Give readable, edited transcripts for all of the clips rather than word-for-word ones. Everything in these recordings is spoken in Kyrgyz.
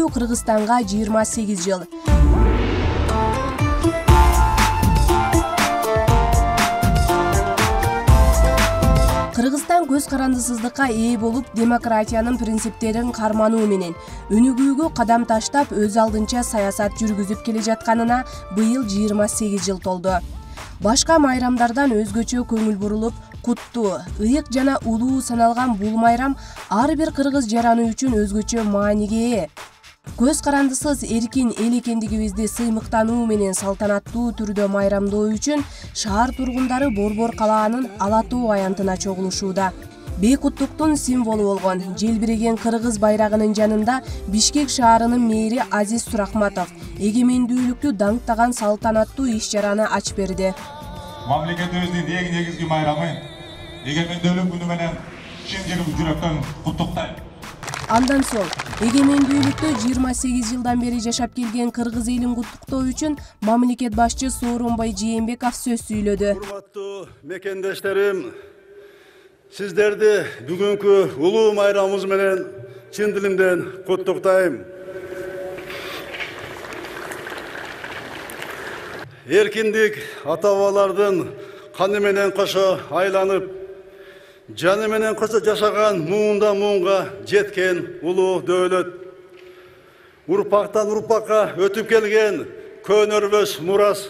Өнүгүү Кыргызстанга 28 жыл. Кыргызстан көз карандысыздыкка ээ болуп, демократиянын принциптерин кармануу менен өнүгүүгө кадам таштап, өз алдынча саясат жүргүзүп келе жатканына быйыл 28 жыл толду. Башка майрамдардан өзгөчө көңүл бурулуп, куттуу, ыйык жана улуу саналган бул майрам ар бир кыргыз жараны үчүн өзгөчө мааниге ээ. Көз карандысыз эркин эл экендигибизди сыймыктануу менен салтанаттуу түрдө майрамдоо үчүн шаар тургундары Борбор калаанын Ала тоо аянтына чогулушууда. Бейкуттуктун символу болгон желбиреген кыргыз байрагынын жанында Бишкек шаарынын мэри Азиз Сурахматов эгемендүүлүктү даңктаган салтанаттуу иш-чараны ачып берди. Мамлекетибиздин эң негизги майрамы эгемендүүлүк күнү менен чын жүрөктөн куттуктайм. Андан соң эгемендүүлүктү 28 жылдан бери жашап келген кыргыз элин куттуктоо үчүн мамлекет башчы Сооронбай Жээнбеков сөз сүйлөдү. Урматтуу мекендештерим, сиздерди бүгүнкү улуу майрамыбыз менен чын дилимден куттуктайм. Эркиндик ата-бабалардын каны менен кошо айланып, жаны менен кошо жашаган муундан муунга жеткен улуу дөөлөт. Урпактан урпакка өтүп келген көнөрбөс мурас.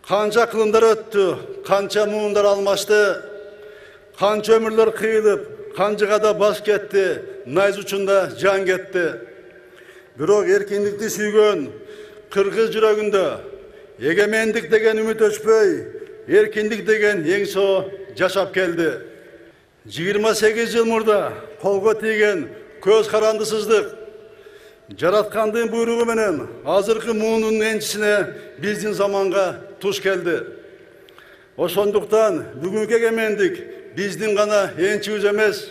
Канча кылымдар өттү, канча муундар алмашты, канча өмүрлөр кыйылып, канжыгада баш кетти, найз учунда жан кетти. Бирок эркиндикти сүйгөн кыргыз жүрөгүндө эгемендик деген үмүт өчпөй, эркиндик деген эңсоо жашап келди. 28 жыл мурда колго тийген көз карандысыздык жараткандын буйругу менен азыркы муунун энчисине биздин заманга туш келди. Ошондуктан бүгүнкү эгемендик биздин гана энчибиз эмес,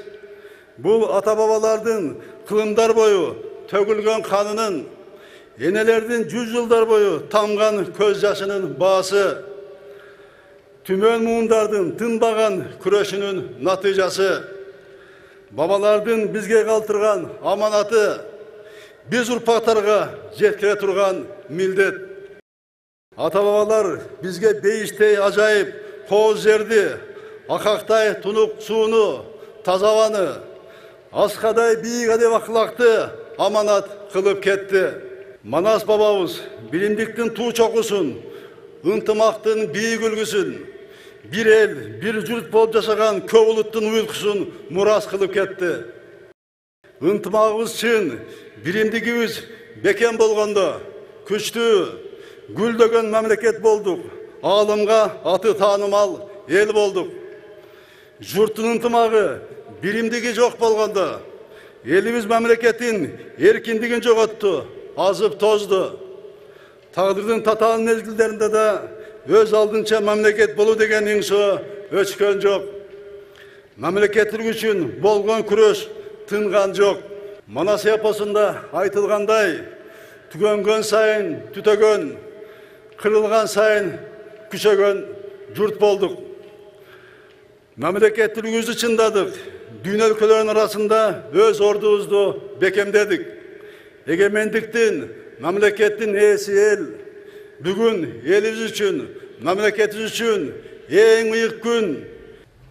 бул ата-бабалардын кылымдар бою төгүлгөн канынын, энелердин 100 жылдар бою тамган көз жашынын баасы, түмөн муундардын тынбаган күрөшүнүн натыйжасы, бабалардын бизге калтырган аманаты, биз урпактарга жеткире турган милдет. Ата-бабалар бизге бейиштей ажайып кооз жерди, акактай тунук сууну, таза абаны, аскадай бийик адеп акылакты аманат кылып кетти. Манас бабабыз билимдиктин туу чокусун, ынтымактын бийик үлгүсүн, бир эл, бир журт болуп жашаган көп улуттун уюлкусун мурас кылып кетти. Ынтымагыбыз чын, биримдигибиз бекем болгондо күчтүү, гүлдөгөн мамлекет болдук, аалымга аты таанымал эл болдук. Журттун ынтымагы, биримдиги жок болгондо элибиз мамлекеттин эркиндигин жоготту, азып тозду. Тагдырдын татаал мезгилдеринде да өз алдынча мамлекет болуу деген эңсөө өчкөн жок. Мамлекеттик үчүн болгон күрөш тынган жок. Манас эпосунда айтылгандай, түгөнгөн сайын түтөгөн, кырылган сайын күчөгөн журт болдук. Мамлекеттилигибизди чындадык, дүйнө өлкөлөрүнүн арасында өз ордубузду бекемдедик. Эгемендиктин, мамлекеттин ээси эл. Бүгүн элибиз үчүн, мамлекетибиз үчүн эң ыйык күн.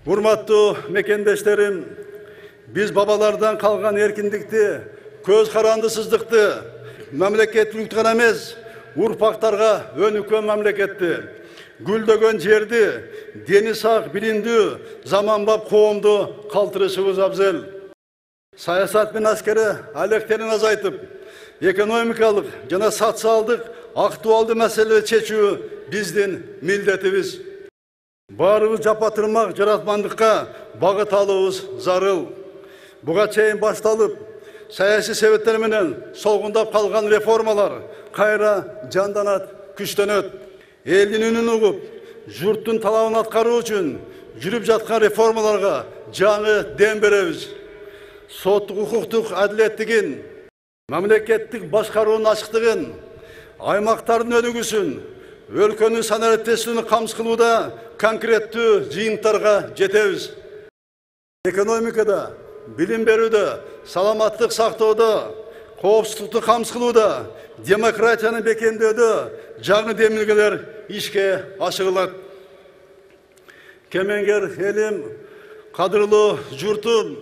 Урматтуу мекендештерим, биз бабалардан калган эркиндикти, көз карандысыздыкты, мамлекеттүүлүктү гана эмес, урпактарга өнүккөн мамлекетти, гүлдөгөн жерди, дени сак, билимдүү, заманбап коомду калтырышыбыз абзел. Саясат менен аскери алектерин азайтып, экономикалык жана социалдык актуалдуу маселелерди чечүү биздин милдетибиз. Баарыбыз жапа-тырмак жаратмандыкка багыт алуубуз зарыл. Буга чейин башталып, саясий себептер менен солгундап калган реформалар кайра жанданат, күчтөнөт. Элдин үнүн угуп, журттун талабын аткаруу үчүн жүрүп жаткан реформаларга жаңы дем беребиз. Соттук укуктук адилеттигин, мамлекеттик башкаруунун ачыктыгын, аймактардын өнүгүүсүн, өлкөнүн санариптештигин камсыз кылууда конкреттүү жыйынтарга жетебиз. Экономикада, билим берүүдө, саламаттык сактоодо, коопсуздукту камсыз кылууда, демократияны бекемдөөдө жаңы демилгелер ишке ашырылат. Кемеңгер элим, кадырлуу журтум,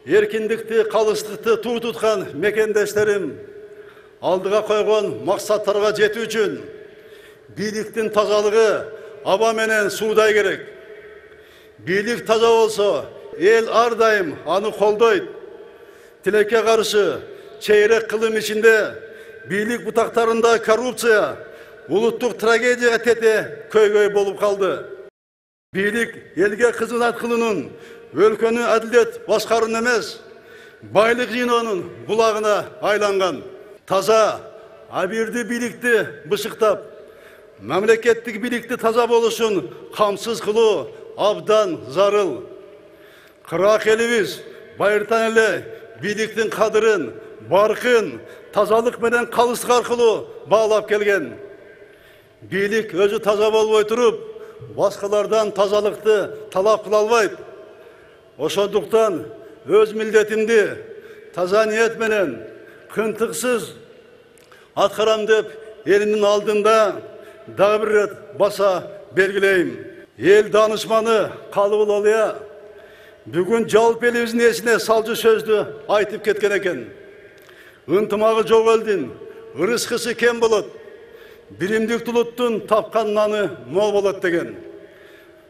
эркиндикти, калыстыкты туу туткан мекендештерим, алдыга койгон максаттарга жетүү үчүн бийликтин тазалыгы аба менен суудай керек. Бийлик таза болсо, эл ар дайым аны колдойт. Тилекке каршы чейрек кылым ичинде бийлик бутактарында коррупция, улуттук трагедияга тете көйгөй болуп калды. Бийлик элге кызмат кылуунун, өлкөнү адилет башкаруунун эмес, байлык жыйноонун булагына айланган. Таза, абийирдүү бийликти бышыктап, мамлекеттик бийликти таза болушун камсыз кылуу абдан зарыл. Кырак элибиз байыртан эле бийликтин кадырын, баркын, тазалык менен калыстык аркылуу баалап келген. Бийлик өзү таза болбой туруп, башкалардан тазалыкты талап кыла албайт. Ошондуктан өз милдетимди таза ниет менен кынтыксыз аткарам деп элимдин алдында дагы бир рет баса белгилейм. Эл данышманы Калыбул Олия бүгүн жалпы элибиздин эсине салжы сөздү айтып кеткен экен. Ынтымагы жок элдин ырыскысы кем болот. Биримдик улуттун тапкан наны мол болот деген.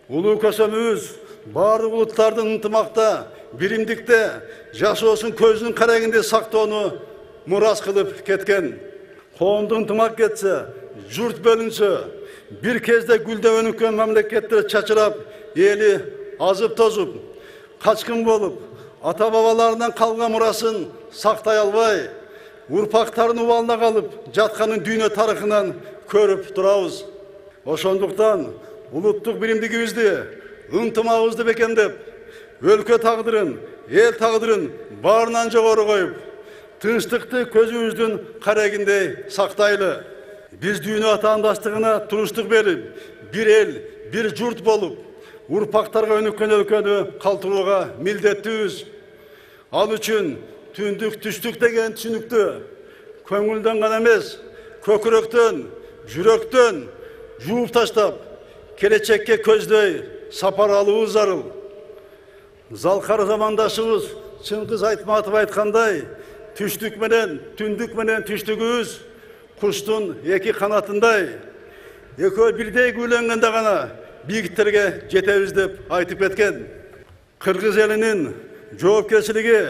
Улуу көсөмүбүз баардык улуттардын ынтымакта, биримдикте жашоосун көзүнүн карегинде сактоону мурас кылып кеткен. Коомдук ынтымак кетсе, журт бөлүнсө, бир кезде гүлдөп өнүккөн мамлекеттер чачырап, эли азып тозуп, качкын болуп, ата бабаларынан калган мурасын сактай албай, урпактарын убалына калып жатканын дүйнө тарыхынан көрүп турабыз. Ошондуктан улуттук биримдигибизди, ынтымагыбызды бекемдеп, өлкө тагдырын, эл тагдырын баарынан жогору коюп, тынчтыкты көзүбүздүн карегиндей сактайлы. Биз дүйнө атаандаштыгына туруштук берип, бир эл, бир журт болуп, урпактарга өнүккөн өлкөнү калтырууга милдеттүүбүз. Ал үчүн түндүк түштүк деген түшүнүктү көңүлдөн гана эмес, көкүрөктөн, жүрөктөн жууп таштап, келечекке көздөй сапар алуубуз зарыл. Залкар замандашыбыз Чыңгыз Айтматов айткандай, түштүк менен түштүгүбүз куштун эки канатындай, экөө бирдей күйлөнгөндө гана бийиктерге жетебиз деп айтып кеткен. Кыргыз элинин жоопкерчилиги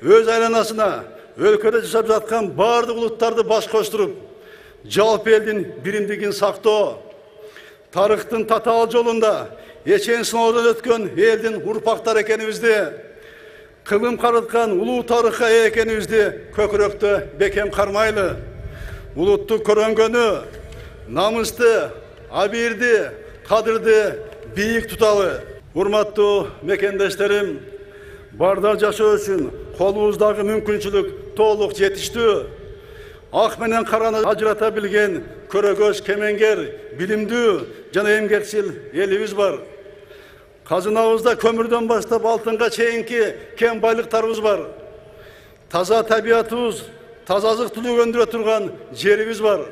өз айланасына өлкөдө жашап жаткан баардык улуттарды баш коштуруп, жалпы элдин биримдигин сактоо, тарыхтын татаал жолунда эчен сыноодон өткөн элдин урпактары экенибизди, кылым карыткан улуу тарыхка ээ экенибизди көкүрөктө бекем кармайлы. Улуттук көрөнгөнү, намысты, абийирди, кадырды бийик туталы. Урматтуу мекендештерим, бардar жашоо үчүн колубуздагы мүмкүнчүлүк толук жетиштүү. Ак менен караны ажырата билген көрөгөз, кемеңгер, билимдүү жана эмгекчил элибиз бар. Казынабызда көмүрдөн баштап алтынга чейинки кен байлыктарыбыз бар. Таза табиятыбыз, таза азык-түлүк өндүрө турган жерибиз бар.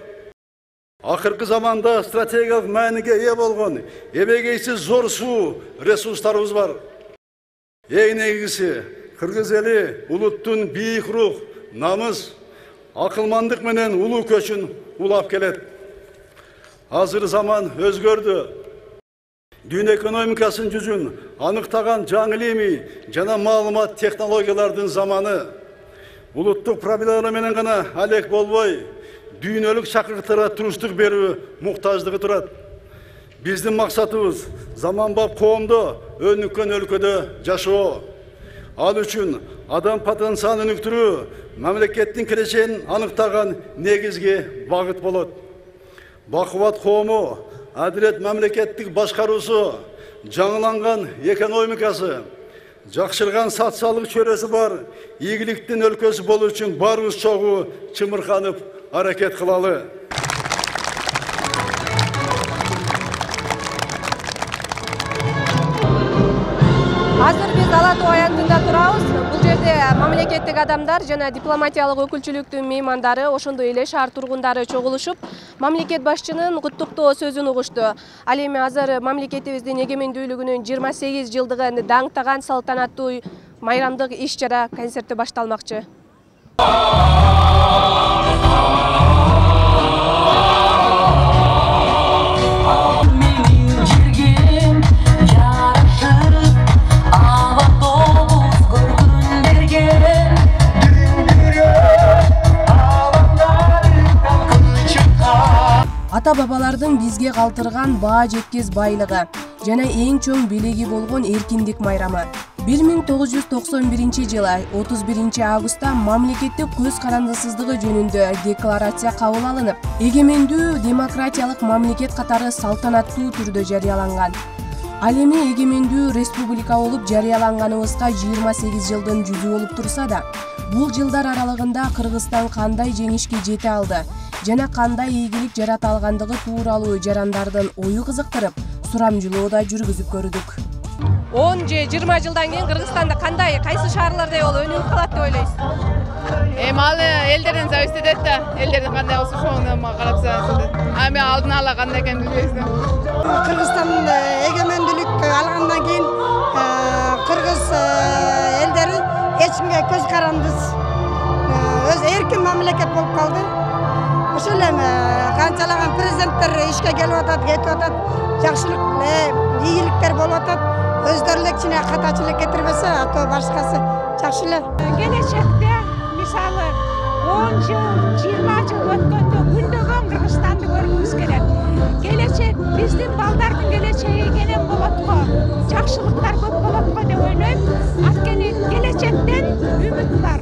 Акыркы заманда стратегиялык мааниге ээ болгон эбегейсиз зор суу ресурстарыбыз бар. Эң негизгиси, кыргыз эли улуттун бийик рух, намыс, акылмандык менен улуу көчүн улап келет. Азыр заман өзгөрдү. Дүйнө экономикасынын жүзүн аныктаган жаңы илимий жана маалымат технологиялардын заманы. Улуттук проблемалар менен гана алек болбой, дүйнөлүк чакырыктарга туруштук берүү муктаждыгы турат. Биздин максатыбыз заманбап коомдо, өнүккөн өлкөдө жашоо. Ал үчүн адам потенциалын өнүктүрүү мамлекеттин келечегин аныктаган негизги багыт болот. Бакубат коому, адилет мамлекеттик башкаруусу, жаңыланган экономикасы, жакшырган социалдык чөйрөсү бар ийгиликтин өлкөсү болуу үчүн баарыбыз чогуу чымырканып аракет кылалы. Азыр биз Ала Тоо аянтында турабыз. Бул жерде мамлекеттик адамдар жана дипломатиялык өкүлчүлүктүн меймандары, ошондой эле шаар тургундары чогулушуп, мамлекет башчынын куттуктоо сөзүн угушту. Ал эми азыр мамлекетибиздин эгемендүүлүгүнүн 28 жылдыгын даңктаган салтанаттуу майрамдык иш-чара концерти башталмакчы. Ата-бабалардын бизге калтырган баа жеткес байлыгы жана эң чоң белеги болгон эркиндик майрамы. 1991 жылы 31 августта мамлекеттик көз карандысыздыгы жөнүндө декларация кабыл алынып, эгемендүү демократиялык мамлекет катары салтанаттуу түрдө жарыяланган. Ал эми эгемендүү республика болуп жарыяланганыбызга 28 жылдын жүзү болуп турса да, бул жылдар аралыгында Кыргызстан кандай жеңишке жете алды жана кандай ийгилик жарата алгандыгы тууралуу жарандардын ою кызыктырып, сурамжылоо да жүргүзүп көрдүк. 10 же 20 жылдан кийин Кыргызстанда кандай, кайсы шаарлардай болуп өнүгүп калат деп ойлойсуз? Ал элдерден зависит этет да. Элдердин кандай болсо ошону карап салат. Эми алдын ала кандай экенин билбейбиз да. Кыргызстан эгемендүүлүк алгандан кийин кыргыз элдери эч кимге көз карандысыз өз эркин мамлекет болуп калды. Ошол эми канчалаган президенттер ишке келип атат, кетип атат, жакшылык, ийгиликтер болуп атат. Өздөрү эле кичине катачылык кетирбесе, ато башкасы жакшы эле. Келечекте мисалы 10 жыл, 20 жыл өткөндө күндөгөн Кыргызстанды көргүбүз келет. Келечек биздин балдардын келечеги кенен болот го, жакшылыктар көп болот го деп ойлойм. Анткени келечектен үмүт бар.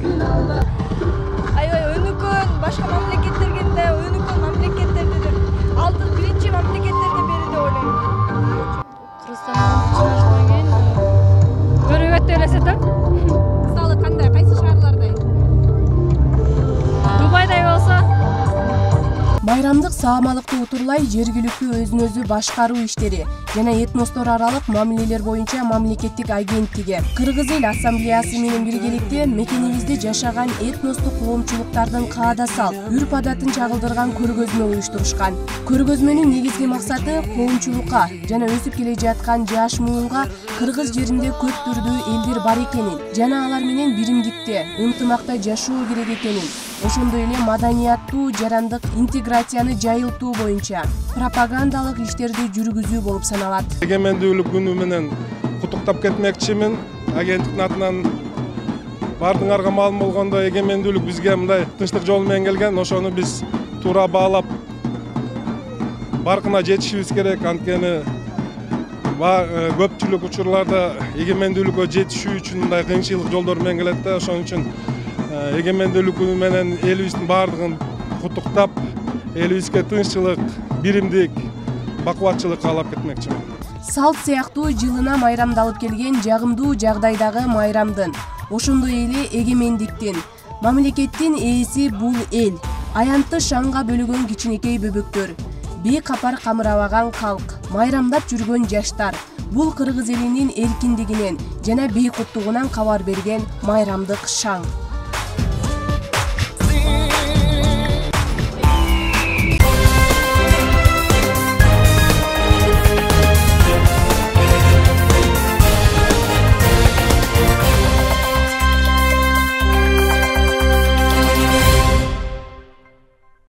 Аябай өнүккөн башка мамлекеттерге да өнүккөн мамлекеттердир. Алдын биринчи мамлекеттердин бири деп ойлойм. Көрүбөттө элесе да. Мисалы кандай, кайсы шаарлардай? Дубайдай болсо. Майрамдык саамалыкты утурлай жергиликтүү өзүн-өзү башкаруу иштери жана этностор аралык мамилелер боюнча мамлекеттик агенттиги Кыргыз эл ассамблеясы менен биргеликте мекенибизде жашаган этностук коомчулуктардын каада салт, үрп-адатын чагылдырган көргөзмө уюштурушкан. Көргөзмөнүн негизги максаты коомчулукка жана өсүп келе жаткан жаш муунга Кыргыз жеринде көп түрдүү элдер бар экенин жана алар менен биримдикте, ынтымакта жашоо керек экенин, ошондой эле маданияттуу жарандык интеграцияны жайылтуу боюнча пропагандалык иштерди жүргүзүү болуп саналат. Эгемендүүлүк күнү менен куттуктап кетмекчимин. Агенттиктин атынан бардыңарга маалым болгондо эгемендүүлүк бизге мындай тынчтык жолу менен келген. Ошону биз туура баалап баркына жетишибиз керек. Анткени көпчүлүк учурларда эгемендүүлүккө жетишүү үчүн мындай кыйынчылык жолдор менен келет да. Ошон үчүн эгемендүүлүк күнү менен элибиздин баардыгын куттуктап, элибизге тынччылык, биримдик, бакубатчылык каалап кетмекчимин. Салт сыяктуу жылына майрамдалып келген жагымдуу жагдайдагы майрамдын, ошондой эле эгемендиктин, мамлекеттин ээси бул эл, аянтты шаңга бөлөгөн кичинекей бөбөктөр, бий капар камырабаган калк, майрамдап жүргөн жаштар, бул Кыргыз элинин эркиндигинен жана бейкуттугунан кабар берген майрамдык шаң.